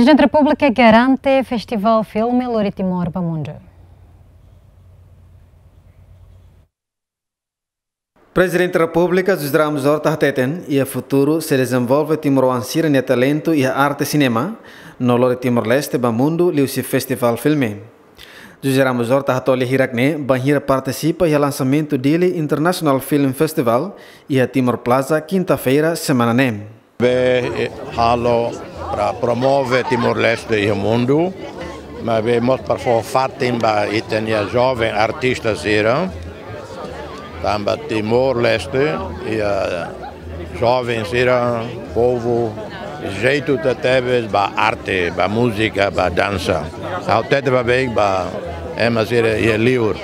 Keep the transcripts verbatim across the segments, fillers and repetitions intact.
Prezidente Repúblika garante Festival Filme lori Timor ba mundu. Prezidente Repúblika José Ramos Horta hateten, iha futuru sei dezenvolve timoroan sira-nia talentu iha arte sinema, no lori Timor-Leste ba mundu liuhusi Festival Filme. José Ramos Horta hato'o lia hirak-ne'e bainhira partisipa iha lansamentu Dili International Film Festival iha Timor Plaza, kinta-feira semana ne'e. Be, eh, halo para promove Timor-Leste iha mundu, maibé mós para fó fatin ba ita-nia joven artista sira, tanba Timor-Leste iha joven sira, povu jeitu tebetebes ba arte, ba múzika, ba dansa. Ha'u hatete ba beik ba ema sira iha liur.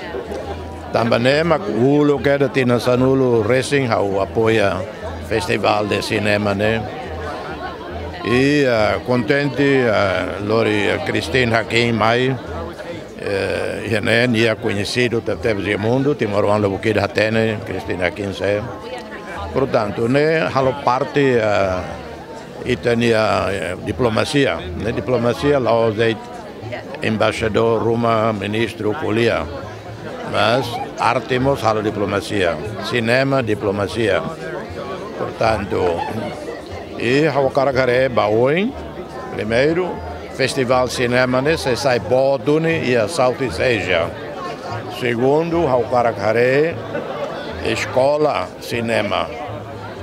Tanba ne'e mak uluk kedas tinan sanulu resin ha'u apoia Festival de Cinema ne'e. I, ah, kontente, ah, lori, ah, Christine Hakim mai, eh, iha ne'e nia koñesidu tebetebes iha mundu, timoroan lubuk ida hatene Christine Hakim sé. Portantu, ne'e halo parte, ah, ita-nia, eh, diplomasia, ne'e diplomasia la'ós de'it embaixadór ruma, ministru, ko'alia. Mas arte mós halo diplomasia, sinema diplomasia. Portantu, i ha'u hakarak haree ba oin, primeiru, festival sinema ne'e sei sai boot duni iha Southeast Asia. Segundu, ha'u hakarak haree eskola sinema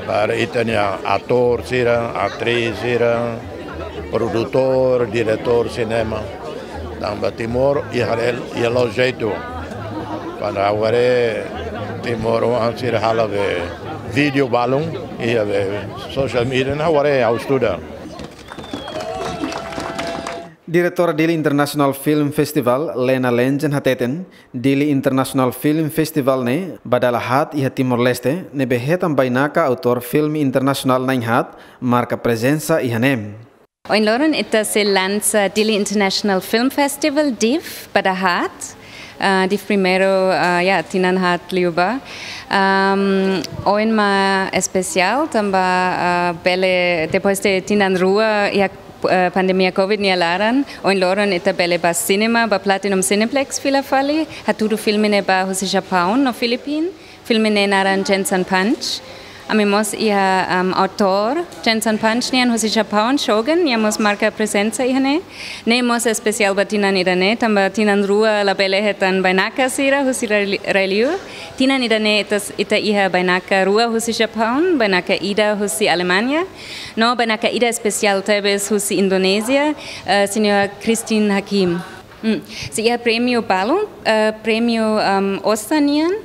para ita-nia atór sira, atris sira, produtór, diretór sinema. Tanba Timor iha rel, iha la'o jeitu. Kuandu ha'u haree timoroan sira halo be vídeo balun iha be social media, ha'u haree ha'u estuda. Diretora Dili International Film Festival, Lena Lenjen hateten, Dili International Film Festival ne'e ba dala haat iha Timor-Leste, ne'ebé hetan bainaka autór filme internasionál na'in haat marka prezensa iha ne'e. Ohin loron ita sei lansa Dili International Film Festival, DIFF, ba dala haat. Ah, DIFF primeiru, ah, ya, tinan haat liubá. Am, ohin mak espesiál, tanba, ah, bele, depois de tinan rua, iha, ah, pandemia covid nia laran, ohin loron ita bele ba sinema, ba Platinum Cineplex fila fali, hatudu filme ne'ebá husi Japaun no Filipin. Filme ne'e naran Jensen Punch. Ami mós iha, am, autór Jensen Punch nian husi Japaun, Shogun, nia mós marka prezensa iha ne'e. Ne'e mós espesiál ba tinan ida-ne'e, tanba tinan rua labele hetan bainaka sira husi rai-, rai-liur. Tinan ida-ne'e ita, ita iha bainaka rua husi Japaun, bainaka ida husi Alemanha, no bainaka ida espesiál tebes husi Indonézia, eh, señora Christine Hakim. Hmm. Sei iha prémiu balun, eh, prémiu, am, osan nian.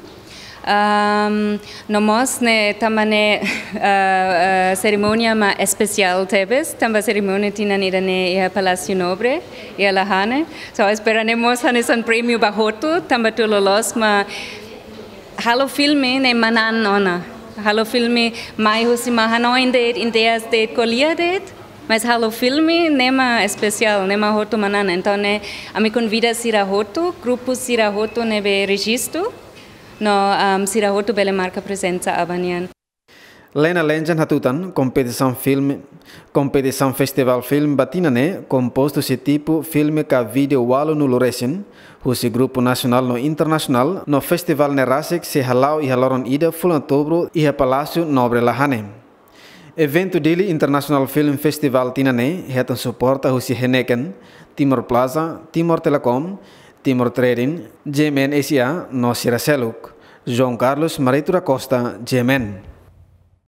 Am, no mós ne'e tanba ne'e, eh, eh, serimónia mak espesiál tebes, tanba serimónia tinan ida-ne'e iha Palásiu Nobre, iha Lahane. So, espera ne'e mós hanesan prémiu ba hotu, tanba tuir loloos mak halo filme ne'e manán ona. Halo filme mai husi mak hanoin de'it, ideias de'it, ko'alia de'it, mas halo filme ne'e mak espesiál, ne'e mak hotu manán. Entaun ne'e, ami konvida sira hotu, grupu sira hotu ne'ebé rejistu, no, am, sira hotu bele marka prezensa aban nian. Lena Lenjen hatutan, kompetisaun filme, kompetisaun festival filme ba tinan ne'e kompostu husi tipu filme ka vídeo ualunulu resin, husi grupu nasionál no internasionál, no festival ne'e rasik sei hala'o iha loron ida fulan Outubru iha Palásiu Nobre Lahane. Eventu Dili International Film Festival tinan ne'e hetan suporta husi Heineken, Timor Plaza, Timor Telecom, Timor Trading, G M N S A no sira seluk. João Carlos Marito da Costa, G M N.